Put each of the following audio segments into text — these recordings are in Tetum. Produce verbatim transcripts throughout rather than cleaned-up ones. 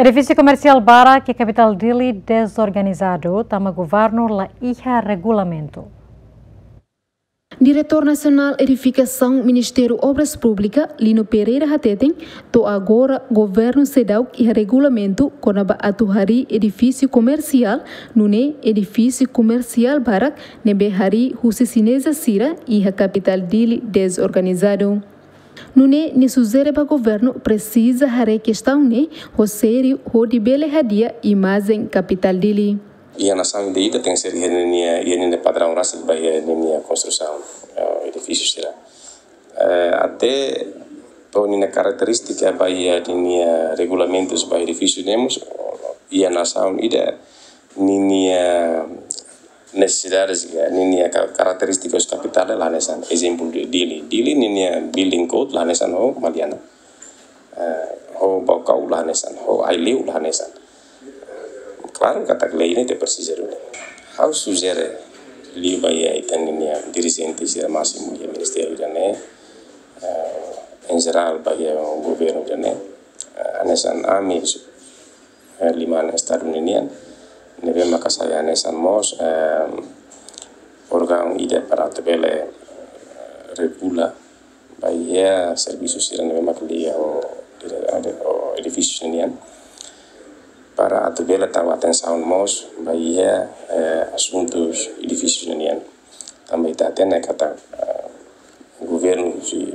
Edifísiu komersiál barak iha kapitál Dili dezorganizadu, tanba governu la iha regulamentu. Diretór Nasionál Edifikasaun Ministériu Obras Públikas, Lino Pereira hateten, to'o agora governu seidauk iha regulamentu kona-ba atu harii edifísiu komersiál, nune'e edifísiu komersiál barak ne'ebé harii husi xineza sira iha kapitál Dili dezorganizadu. Nune'e nia sujere ba governu presiza haree kestaun ne'e ho sériu hodi bele hadi'a imajen kapitál Dili. Iha nasaun ida-idak tenke ser iha ninia, iha ninia padraun rasik ba iha ninia konstrusaun, eh, edifísiu sira. Eh, até to'o ninia karakterístika ba iha ninia regulamentus ba edifísiu ne'e mós, iha nasaun ida ninia nesesidade sira, ninia ka-, karakterístika husi kapitál la hanesan. Ezemplu Dili. Dili ninia building code la hanesan ho Maliana. Eh, ho Baucau la hanesan, ho Aileu la hanesan. Klaru katak lei ne'e ita presiza duni. Ha'u sujere liu ba iha ita-nia dirijente sira másimu iha ministériu ida-ne'e, eh, em geral ba iha governu ida-ne'e, eh, hanesan ami, eh, liman Estadu ninian, ne'ebé maka sai hanesan mós, eh, órgaun ida para atu bele, eh, regula ba iha servisu sira ne'ebé maka liga ho, ho edifísiu nian. Para atu bele tau atensaun mós ba iha, eh, asuntus edifísiu nian. Tanba ita hatene katak, eh, governu husi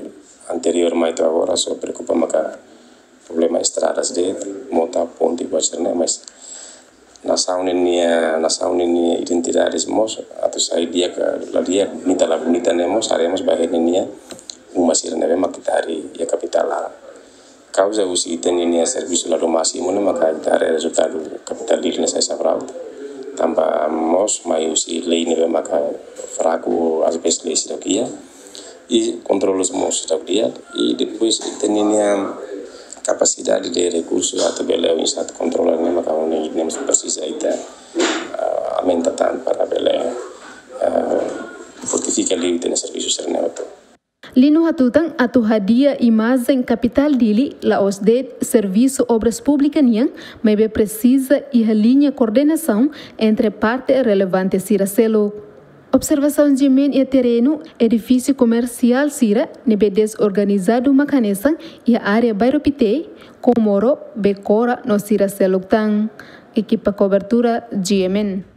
anteriór mai to'o agora só preokupa maka problema estradas de'it, mota, ponte, buat sira-ne'e, mas nasaun ninia, nasaun ninia identidade mós atu sai di'ak ka la di'ak, bonita la bonita ne'e mós, haree mós ba iha ninia uma sira ne'ebé maka ita harii iha kapitál laran. Kauza husi ita-nia servisu la dún másimu ne'e maka ita haree rezultadu kapitál Dili ne'e sai sabraut. Tanba mós mai husi lei ne'ebé maka fraku, às vezes lei seidauk iha. I kontrolu mós seidauk di'ak. I depois ita-nia kapasidade de rekursu atu bele oinsá atu kontrola ne'e maka ne'e mós presiza ita, ah, aumenta tan para bele, ah, fortifika liu ita-nia servisu sira-ne'e hotu. Lino hatutan atu hadi'a imajen kapitál Dili la'ós de'it servisu obras públikas nian, maibé presiza iha liña koordenasaun entre parte relevante sira seluk. Observasaun GMN iha terrenu, edifísiu komersiál sira ne'ebé dezorganizadu mak hanesan iha área Bairru Pité, Comoro, Becora no sira seluk tan. Ekipa kobertura GMN.